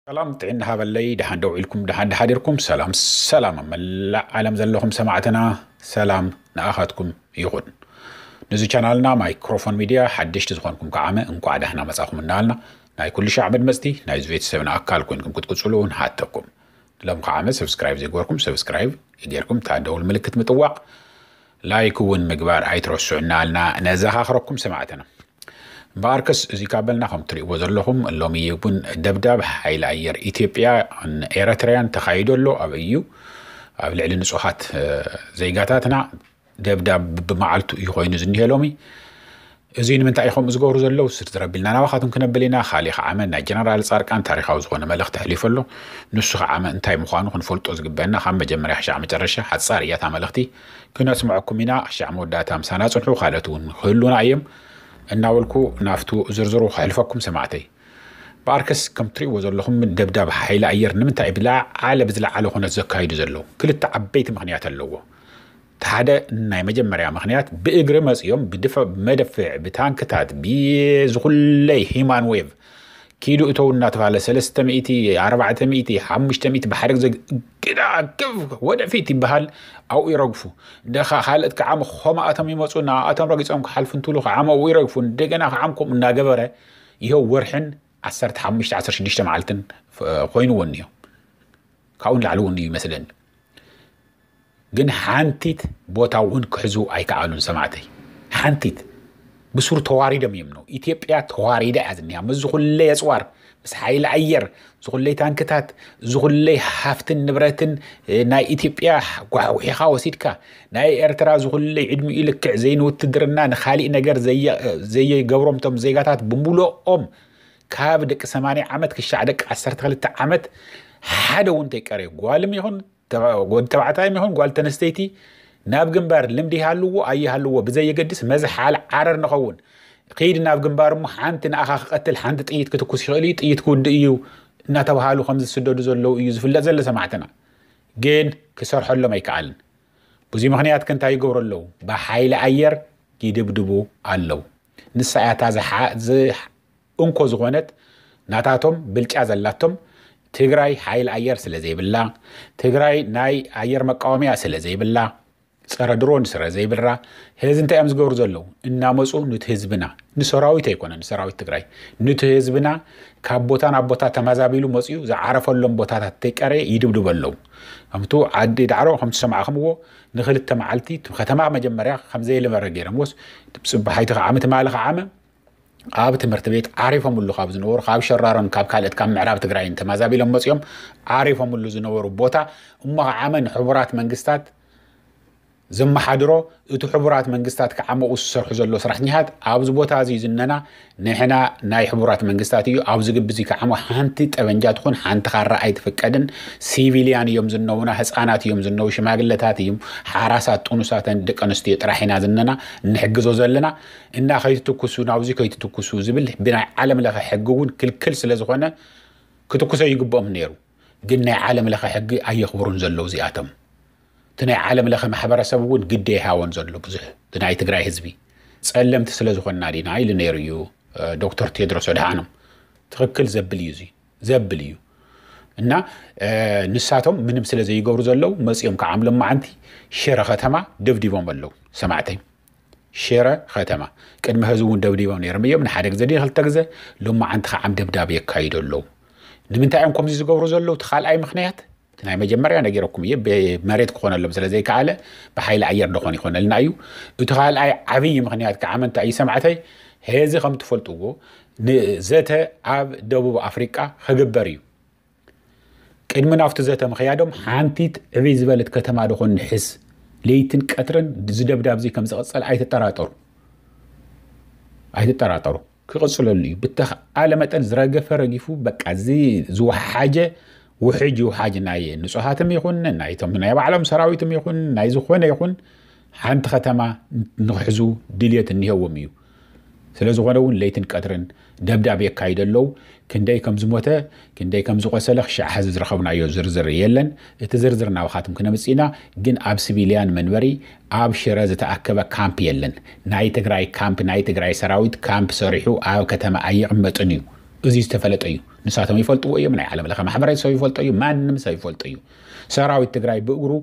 ሰላም ጥዕና ሃበለይ፣ ደሓን ደው ኢልኩም፣ ደሓን ደሓዲርኩም፣ ሰላም ሰላም ኣብ መላእ ዓለም ዘለኹም ሰማዕትና፣ ሰላም ንኣኻትኩም ይኹን። ነዚ ቻናልና ማይክሮፎን ሚድያ ሓደሽቲ ዝኾንኩም ከዓመ እንኳዕ ደህና መጻኹም እናበልና፣ ናይ ኩሉ ሻዕ መድመጽቲ ናይዚ ቤተሰብና ኣካል ኮይንኩም ክትቅጽሉ ንሓተኩም። ሎም ከዓመ ሰብስክራይብ ዘይገበርኩም ሰብስክራይብ ይገርኩም፣ እታ ደውል ምልክት ምጥዋቕ፣ ላይክ እውን ምግባር ኣይትረስዑ እናበልና ነዘኻኽረኩም ሰማዕትና። እምበኣርከስ እዚ ካብ በልና ከም ትርእይዎ ዘለኹም ሎሚ እውን ደብዳብ ሓይሊ ኣየር ኢትዮጵያ ኤረትርያን ተኻይዶ ኣሎ። ኣብ እዩ ኣብ ልዕሊ ንጹሃት እ፣ ዜጋታትና ደብዳብ ብመዓልቱ እዩ ኮይኑ ዝኒሄ ሎሚ። እዚ ንምንታይ እዩ ከምኡ ዝገብሩ ዘለዉ? ስርዝር ኣቢልና ናባኻትኩም ክነብል ኢና። ካሊእ ከዓመ ናይ ጀነራል ጻድቃን ታሪኻዊ ዝኾነ መልእኽቲ ኣሕሊፉ ኣሎ። ንሱ ከዓመ እንታይ ምዃኑ ክንፈልጦ ዝግበአና ካብ መጀመርያ ክሻዕ መጨረሻ ሓጻር እያ እታ መልእኽቲ። ክነስምዐኩም ኢና። ክሻዕ መወዳእታ ምሳና ጽንሑ። ካልኦት እውን ክህሉና እዮም እናበልኩ ናብቱ ዝርዝሩ ከሕልፈኩም ሰማዕተይ። በኣርከስ ከም ትርእይዎ ዘለኹም ደብዳብ ሓይሊ ኣየር ንምንታይ ብላዓለ ብዝለዓለ ኩነት ዘካይዱ ዘለዉ ክልተ ዓበይቲ ምኽንያት ኣለዎ። እቲ ሓደ ናይ መጀመርያ ምኽንያት ብእግሪ መጺኦም ብድፈ-፣ መደፍዕ ብታንክታት ብዝኹለይ ሂማን ዌቭ ኪዱ እተው እናተባሃለ ሰለስተ ሚእቲ፣ ኣርባዕተ ሚእቲ፣ ሓሙሽተ ሚእቲ ብሓደ ግዜ ግዳ ግብ ወደፊት ይበሃል። ኣብኡ ይረግፉ። ደኻ ካልኦት ከዓም ኾማኣቶም ይመጹ፣ ንኣቶም ረጊጾም ክሓልፉ እንትብሉ ከዓም ኣብኡ ይረግፉ። እንደገና ከዓም ከምኡ እናገበረ ይኸው ወርሕን ዓሰርተ ሓሙሽተ ዓሰርተ ሽዱሽተ መዓልትን ፍ-፣ ኮይኑዎ እኒኦ። ካብኡ ንላዕሊ እውን እዩ ይመስለኒ። ግን ሓንቲት ቦታ እውን ክሕዙ ኣይከኣሉን ሰማዕተይ። ሓንቲት ብሱር ተዋሪዶም እዮም ነው። ኢትዮጵያ ተዋሪዳ እያ ዝኒሃ። ምስ ዝኹለይ ኣጽዋር፣ ምስ ሓይሊ ኣየር፣ ዝኹለይ ታንክታት፣ ዝኹለይ ሃፍትን ንብረትን እ፣ ናይ ኢትዮጵያ ጓሕጒሒኻ ወሲድካ፣ ናይ ኤርትራ ዝኹለይ ዕድሚኡ ልክዕ ዘይንውትድርና ንኻሊእ ነገር ዘየ-፣ ዘየገብሮም እቶም ዜጋታት ብምሉኦም ካብ ደቂ ሰማንያ ዓመት ክሻዕ ደቂ ዓሰርተ ክልተ ዓመት ሓደ እውን ተይቀረዩ ጓልም ይኹን ተባ-፣ ወዲ ተባዕታይም ይኹን ጓል ተነስተይቲ ናብ ግንባር ልምዲ ይሃልዎ ኣይሃልዎ ብዘየገድስ መዝሓል ዓረር ንኸውን። ከይድ ናብ ግንባር እሞ ሓንቲ ንኣኻ ክቐትል ሓንቲ ጥይት ክትኩስ ይኽእል እዩ፣ ጥይት ክውድእ እዩ እናተባሃሉ ከም ዝስደዱ ዘለዉ እዩ ዝፍለጥ ዘሎ ሰማዕትና። ግን ክሰርሐሎም ኣይከኣልን። ብዙ ምኽንያት ከ እንታይ ይገብሩ ኣለዉ? ብሓይሊ ኣየር ይድብድቡ ኣለዉ። ንሳ እያ እታ ዝሓ-፣ ዝ-፣ እንኮ ዝኾነት ናታቶም ብልጫ ዘላቶም ትግራይ ሓይሊ ኣየር ስለ ዘይብላ፣ ትግራይ ናይ ኣየር መቃወምያ ስለ ዘይብላ፣ ጸረ ድሮን ስለ ዘይብራ፣ ህዚ እንታይ እዮም ዝገብሩ ዘለዉ? እናመጹ ኑቲ ህዝብና፣ ንሰራዊት ኣይኮነን፣ ንሰራዊት ትግራይ፣ ኑቲ ህዝብና ካብ ቦታ ናብ ቦታ ተመዛቢሉ መጺኡ ዝዓረፈሎም ቦታታት ተይቀረየ ይድብድቡ ኣለዉ። ከምቱ ዓዲ ዳዕሮ ከምቲ ሰማዕኹምዎ ንክልተ መዓልቲ እቲ ከተማ መጀመርያ ከም ዘየለመረ ገይሮምዎስ፣ ጽባሓይቲ ከዓመ ትማሊ ከዓመ ኣብ ትምህርቲ ቤት ዓሪፎምሉ ካብ ዝነበሩ ካብ ሸራሮን ካብ ካልኦት ካብ ምዕራብ ትግራይን ተመዛቢሎም መጺኦም ዓሪፎምሉ ዝነበሩ ቦታ እሞ ከዓመ ንሕቡራት መንግስታት ዘመሓድሮ እቲ ሕቡራት መንግስታት ከዓመኡ ዝሰርሑ ዘሎ ሰራሕተኛታት ኣብዚ ቦታ እዚ ዝነና ንሕና ናይ ሕቡራት መንግስታት እዩ። ኣብዚ ግቢ እዚ ከዓሞ ሓንቲ ጠበንጃ ትኹን ሓንቲ ካራ ኣይትፍቀድን። ሲቪልያን እዮም ዝነውና፣ ህፃናት እዮም ዝነው፣ ሽማግለታት እዮም፣ ሓራሳት፣ ጥኑሳተን ደቂ ኣንስትዮ ጥራሕ ኢና ዝነና እንሕግዞ ዘለና እና ከይትትኩሱ፣ ናብዚ ከይትትኩሱ ዝብል ብናይ ዓለም ለኸ ሕጊ እውን ክልክል ስለ ዝኾነ ክትኩሶ ይግብኦም ነይሩ። ግን ናይ ዓለም ለኸ ሕጊ ኣየኽብሩን ዘለዉ እዚኣቶም። እቲ ናይ ዓለም ለኸ ማሕበረሰብ እውን ግደ ይሃቦን ዘሎ ብዙሕ። እቲ ናይ ትግራይ ህዝቢ ጸለምቲ ስለ ዝኾንና ዲና ኢሉ ነይሩ እዩ፣ እ፣ ዶክተር ቴድሮስ ኣድሓኖም። ትኽክል ዘብል እዩ እዚ፣ ዘብል እዩ። እና፣ እ፣ ንሳቶም ምንም ስለ ዘይገብሩ ዘለዉ መጺኦም ከዓም ሎማዓንቲ ሽረ ከተማ ደብዲቦም ኣለዉ። ሰማዕተይ፣ ሽረ ከተማ ቅድሚ ሕዚ እውን ደብዲቦም ነይሮም እዮም። ንሓደ ግዜ ድዩ ክልተ ግዜ፣ ሎማዓንቲ ከዓም ደብዳብ የካይዱ ኣለዉ። ንምንታይ እዮም ከምዚ ዝገብሩ ዘለዉ? እቲ ካልኣይ ምኽንያት፣ እቲ ናይ መጀመርያ ነጊረኩም እየ፣ ብመሬት ክኾነሎም ስለ ዘይከኣለ ብሓይሊ ኣየር ደኾን ይኾነልና እዩ። እቲ ካልኣይ ዓብዪ ምኽንያት ከዓመ እንታይ እዩ ሰማዕተይ? ሕዚ ከም ትፈልጥዎ ንዘተ ኣብ ደቡብ ኣፍሪቃ ክግበር እዩ። ቅድሚ ናብቲ ዘተ ምኽያዶም ሓንቲት ዕብይ ዝበለት ከተማ ደኾን ንሕዝ፣ ለይትን ቀትርን እዚ ደብዳብ እዚ ከም ዝቕጸል ኣይትጠራጠሩ። ኣይትጠራጠሩ። ክቕጽለሉ እዩ። ብተኽኣለ መጠን ዝረገፈ ረጊፉ፣ በቃ እዚ ዝወሓጀ ውሕጅ ይውሓጅ፣ ናይ ንጹሃትም ይኹን፣ ናይቶም ናይ ባዕሎም ሰራዊትም ይኹን፣ ናይ ዝኾነ ይኹን፣ ሓንቲ ከተማ ንኽሕዙ ድልየት እኒሄዎም እዩ። ስለ ዝኾነ እውን ለይትን ቀትርን ደብዳብ የካይዱ ኣለዉ። ክንደይ ከም ዝሞተ፣ ክንደይ ከም ዝቆሰለ ክሻዕ ሕዚ ዝረኸብናዮ ዝርዝር የለን። እቲ ዝርዝር ናባኻትም ክነምጽእ ኢና። ግን ኣብ ሲቪልያን መንበሪ ኣብ ሽረ ዝተኣከበ ካምፕ የለን። ናይ ትግራይ ካምፕ፣ ናይ ትግራይ ሰራዊት ካምፕ ሰሪሑ ኣብ ከተማ ኣየቕመጥን እዩ። እዚ ዝተፈለጠ እዩ። ንሳቶም ይፈልጥዎ እዮም። ናይ ዓለም ለኸ ማሕበረሰብ ይፈልጦ እዩ። ማንም ሰብ ይፈልጦ እዩ። ሰራዊት ትግራይ ብእግሩ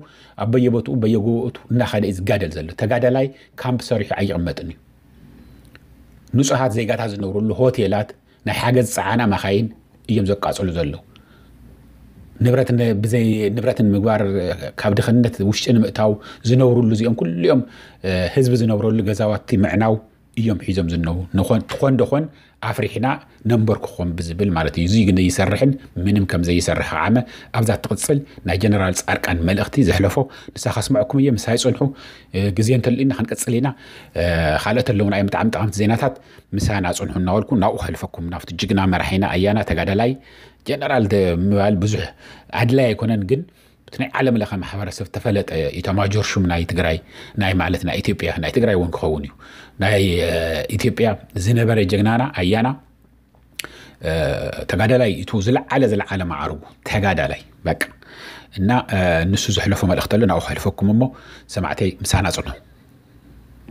ኣብ በየቦትኡ በየጎቦቱ እናኸደ እዩ ዝጋደል ዘሎ። ተጋዳላይ ካምፕ ሰሪሑ ኣይቕመጥን እዩ። ንጹሃት ዜጋታት ዝነብሩሉ ሆቴላት፣ ናይ ሓገዝ ጸዓና መኻይን እዮም ዘቃጽሉ ዘለዉ። ንብረት ን-፣ ብዘይ ንብረት ንምግባር፣ ካብ ድኽነት ውሽጢ ንምእታው ዝነብሩሉ እዚኦም ኩሉ እዮም፣ እ፣ ህዝቢ ዝነብረሉ ገዛዋቲ ምዕናው እዮም ሒዞም ዝነው። ንኾን-፣ ትኾን ደኾን ኣፍሪሕና ነንበርክኾም ብዝብል ማለት እዩ። እዙይ ግን ይሰርሕን ምንም ከም ዘይሰርሕ ከዓመ ኣብዛ ትቕጽል ናይ ጀነራል ጻድቃን መልእኽቲ ዘሕለፎ ንሳ ከስምዐኩም እየ። ምሳይ ጽንሑ፣ እ፣ ግዜ እንተልኢና ክንቅጽል ኢና። እ፣ ካልኦት ኣለውና እዮም ብጣዕሚ ጠቐምቲ ዜናታት። ምሳና ጽንሑ እናበልኩ ናብኡ ከሕልፈኩም ናብቲ ጅግና መራሒና ኣያና ተጋዳላይ ጀነራል ደ-፣ ምባል ብዙሕ ኣድላይ ኣይኮነን፣ ግን እቲ ናይ ዓለም ለኸ ማሕበረሰብ ተፈለጠ ኢታማጆር ሹም ናይ ትግራይ፣ ናይ ማለት ናይ ኢትዮጵያ፣ ናይ ትግራይ እውን ክኸውን እዩ፣ ናይ፣ እ፣ ኢትዮጵያ ዝነበረ ጀግናና ኣያና፣ እ፣ ተጋዳላይ፣ እቲ ዝለዓለ ዝለዓለ ማዕርጉ ተጋዳላይ በቃ። እና፣ እ፣ ንሱ ዘሕለፎ መልእኽቲ ኣሎ፣ ናብኡ ከሕልፈኩም እሞ ሰማዕተይ ምሳና ጽንሑ።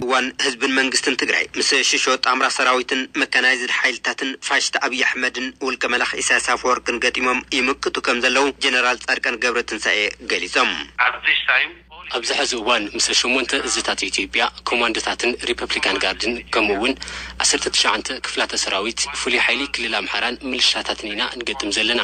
እዋን ህዝብን መንግስትን ትግራይ ምስ ሽሾ ጣምራ ሰራዊትን መካናይዝድ ሓይልታትን ፋሽስት ኣብይ ኣሕመድን ውልቀ መላኽ ኢሳያስ ኣፈወርቅን ገጢሞም ይምክቱ ከም ዘለዉ ጀነራል ጻድቃን ገብረ ትንሳኤ ገሊጾም። ኣብዚ ሕዚ እዋን ምስ ሸሞንተ እዝታት ኢትዮጵያ፣ ኮማንዶታትን ሪፐብሊካን ጋርድን ከምኡ እውን ዓሰርተ ትሽዓተ ክፍላተ ሰራዊት ፍሉይ ሓይሊ ክልል ኣምሓራን ምልሻታትን ኢና ንገጥም ዘለና።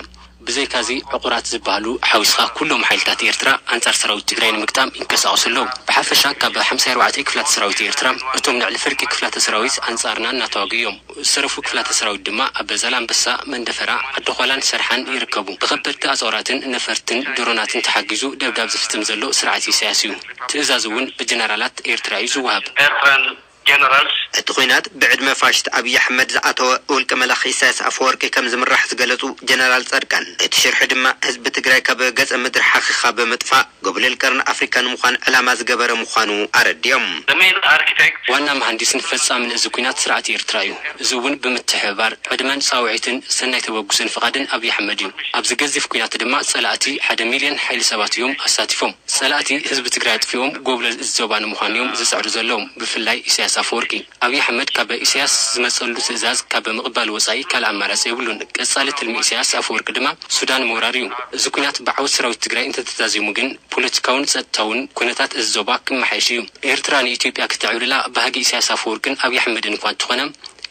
ብዘይካዚ ዕቑራት ዝበሃሉ ሓዊስኻ ኩሎም ሓይልታት ኤርትራ ኣንጻር ሰራዊት ትግራይ ንምግጣም ይንቀሳቐሱ ኣለዉ። ብሓፈሻ ካብ ሓምሳ ኣርባዕተ ክፍላት ሰራዊት ኤርትራ እቶም ልዕሊ ፍርቂ ክፍላተ ሰራዊት ኣንጻርና እናተዋግኡ እዮም። ዝተረፉ ክፍላተ ሰራዊት ድማ ኣብ ዛላምበሳ፣ መንደፈራ፣ ዓዲ ኾላን ሰርሓን ይርከቡ። ብኸበድቲ ኣጽዋራትን ነፈርትን ድሮናትን ተሓጊዙ ደብዳብ ዝፍጽም ዘሎ ስርዓት ኢሳያስ እዩ። ትእዛዝ እውን ብጀነራላት ኤርትራ እዩ ዝወሃብ። Eritrean generals. እቲ ኲናት ብዕድመ ፋሽስት ኣብይ ኣሕመድ ዝኣተወ ውልቀ መላኺ ኢሳያስ ኣፈወርቂ ከም ዝምራሕ ዝገለጹ ጀነራል ጻድቃን፣ እቲ ሽርሒ ድማ ህዝቢ ትግራይ ካብ ገጸ ምድሪ ሓኺኻ ብምጥፋእ ጎብለል ቀርኒ ኣፍሪካ ንምዃን ዕላማ ዝገበረ ምዃኑ ኣረዲኦም። The main architect. ዋና መሃንዲስን ፈጻምን እዚ ኲናት ስርዓት ኤርትራ እዩ። እዚ እውን ብምትሕብባር ዕድመን ጻውዒትን ሰናይ ተበግሶን ፍቓድን ኣብይ ኣሕመድ እዩ። ኣብዚ ገዚፍ ኲናት ድማ ጸላእቲ ሓደ ሚልዮን ሓይሊ ሰባት እዮም ኣሳቲፎም። ጸላእቲ ህዝቢ ትግራይ ኣጥፊኦም ጎብለል እዚ ዞባ ንምዃን እዮም ዝጽዕሩ ዘለዉ፣ ብፍላይ ኢሳያስ ኣፈወርቂ። ኣብይ ኣሕመድ ካብ ኢሳያስ ዝመጸሉ ትእዛዝ ካብ ምቕባል ወጻኢ ካልእ ኣማራጺ የብሉን። ቀጻሊ ትልሚ ኢሳያስ ኣፈወርቂ ድማ ሱዳን ምውራር እዩ። እዚ ኲናት ብዓወት ሰራዊት ትግራይ እንተተዛዚሙ ግን ፖለቲካውን ጸጥታውን ኩነታት እዚ ዞባ ክመሓየሽ እዩ። ኤርትራ ንኢትዮጵያ ክተዕብልላ ባህጊ ኢሳያስ ኣፈወርቅን ኣብይ ኣሕመድን እኳ እንተኾነ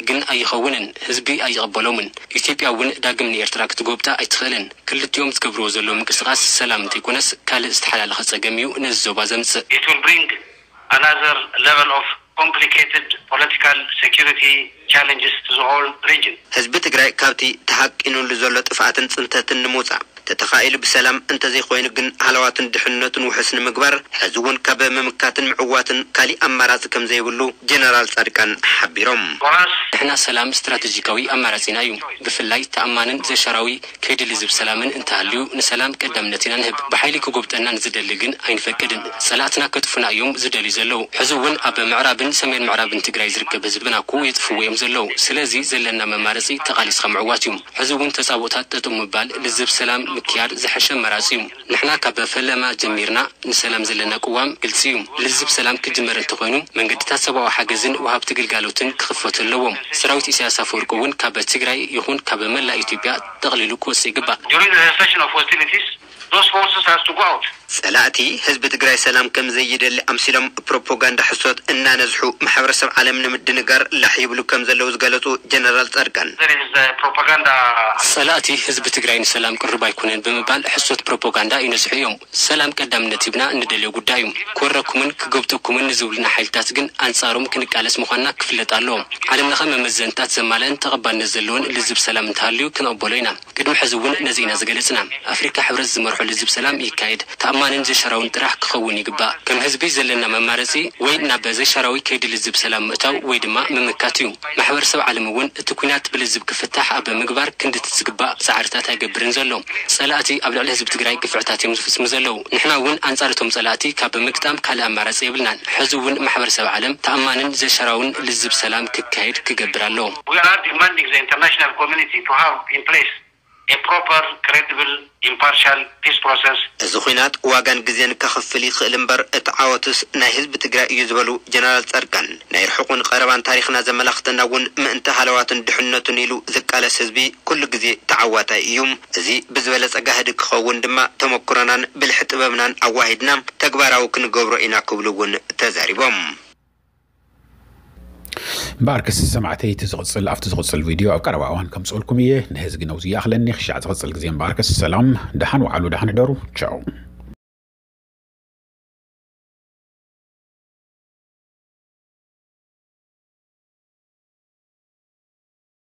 ግን ኣይኸውንን፣ ህዝቢ ኣይቕበሎምን። ኢትዮጵያ እውን ዳግም ንኤርትራ ክትጎብጣ ኣይትኽእልን። ክልቲኦም ዝገብርዎ ዘለዉ ምንቅስቓስ ሰላም እንተይኮነስ ካልእ ዝተሓላለኸ ጸገም እዩ ነዚ ዞባ ዘምጽእ። It will bring another level of complicated political security challenges to the whole region. ህዝቢ ትግራይ ካብቲ ተሃቂኑሉ ዘሎ ጥፍኣትን ጽንተትን ንምውጻእ ተተኻኢሉ ብሰላም እንተዘይኮይኑ ግን ሃለዋቱን ድሕንነቱን ውሑስ ንምግባር ሕዚ እውን ካብ ምምካትን ምዕዋትን ካሊእ ኣማራጺ ከም ዘይብሉ ጀነራል ጻድቃን ሓቢሮም። For us, ንሕና ሰላም ስትራቴጂካዊ ኣማራጺና እዩ። ብፍላይ ተኣማንን ዘሻራዊ ከይዲ ልዝብ ሰላምን እንተሃልዩ ንሰላም ቀዳምነት ኢና ንህብ። ብሓይሊ ክጎብጠና ንዝደሊ ግን ኣይንፈቅድን። ጸላእትና ከጥፉና እዮም ዝደልዩ ዘለዉ። ሕዚ እውን ኣብ ምዕራብን ሰሜን ምዕራብን ትግራይ ዝርከብ ህዝብና እኮ የጥፍዎ እዮም ዘለዉ። ስለዚ ዘለና መማረፂ ተቓሊስኻ ምዕዋት እዩ። ሕዚ እውን ተፃብኦታት ጠጠው ምባል፣ ልዝብ ሰላም ምክያድ ዝሐሸ ኣማራፂ እዩ። ንሕና ካብ ፈለማ ጀሚርና ንሰላም ዘለና ቅዋም ግልፂ እዩ። ልዝብ ሰላም ክጅመር እንተኾይኑ መንገድታት ሰብኣዊ ሓገዝን ወሃብቲ ግልጋሎትን ክኽፈቱ ኣለዎም። ሰራዊት ኢሳያስ ኣፈወርቂ እውን ካብ ትግራይ ይኹን ካብ መላእ ኢትዮጵያ ጠቕሊሉ ክወፅእ ይግባእ። During the cessation of hostilities, those forces has to go out. ጸላእቲ ህዝቢ ትግራይ ሰላም ከም ዘይደሊ ኣምሲሎም ፕሮፓጋንዳ ሕሶት እናነዝሑ ማሕበረሰብ ዓለም ንምድንጋር ላሕ ይብሉ ከም ዘለዉ ዝገለጹ ጀነራል ጻድቃን፣ There is, uh, propaganda. ጸላእቲ ህዝቢ ትግራይ ንሰላም ቅሩብ ኣይኮነን ብምባል ሕሶት ፕሮፓጋንዳ ይነዝሑ እዮም። ሰላም ቀዳምነት ሂብና እንደልዮ ጉዳይ እዩ። ክወረኩምን ክጎብጠኩምን ንዝብሉና ሓይልታት ግን ኣንጻሮም ክንቃለስ ምዃንና ክፍለጥ ኣለዎ። ዓለም ለኸ መመዘንታት ዘማልአን ተቐባልነት ዘለዎን ልዝብ ሰላም እንተሃልዩ ክንቕበሎ ኢና። ቅድሚ ሕዚ እውን ነዚ ኢና ዝገለጽና። ኣፍሪካ ሕብረት ዝመርሖ ልዝብ ሰላም ይካየድ። ተኣማንን ዘሻራውን ጥራሕ ክኸውን ይግባእ። ከም ህዝቢ ዘለና መማረፂ ወይ ናብ ዘሻራዊ ከይዲ ልዝብ ሰላም ምእታው ወይ ድማ ምምካት እዩ። ማሕበረሰብ ዓለም እውን እቲ ኲናት ብልዝብ ክፍታሕ ኣብ ምግባር ክንድቲ ዝግባእ ፃዕርታት ኣይገብርን ዘሎ። ጸላእቲ ኣብ ልዕሊ ህዝቢ ትግራይ ግፍዕታት እዮም ዝፍጽሙ ዘለዉ። ንሕና እውን ኣንጻር እቶም ጸላእቲ ካብ ምግጣም ካልእ ኣማራጺ የብልናን። ሕዚ እውን ማሕበረሰብ ዓለም ተኣማንን ዘሻራውን ልዝብ ሰላም ክካየድ ክገብር ኣለዎ። We are demanding the international community to have in place a proper, credible, impartial peace process. እዚ ኹናት ዋጋን ግዜን ከኽፍል ይኽእል እምበር እቲ ዓወትስ ናይ ህዝቢ ትግራይ እዩ ዝበሉ ጀነራል ፃድቃን፣ ናይ ርሑቕን ቀረባን ታሪኽና ዘመላኽተና እውን ምእንቲ ሃለዋትን ድሕነቱን ኢሉ ዝቃለስ ህዝቢ ኩሉ ግዜ ተዓዋታይ እዩ። እዚ ብዝበለፀ ጋህዲ ክኸውን ድማ ተመኩሮናን ብልሒ ጥበብናን ኣዋሂድና ተግባራዊ ክንገብሮ ኢና ክብሉ እውን ተዛሪቦም። እምበኣርከስ ሰማዕተይ እቲ ዝቕፅል ኣብቲ ዝቕፅል ቪድዮ ኣብ ቀረባ እዋን ከምፅእልኩም እየ። ንሕዚ ግን ኣብዚ ይኣኽለኒ። ክሻዕ ዝቕፅል ግዜ እምበኣርከስ ሰላም፣ ደሓን ወዓሉ፣ ደሓን ሕደሩ። ቻው።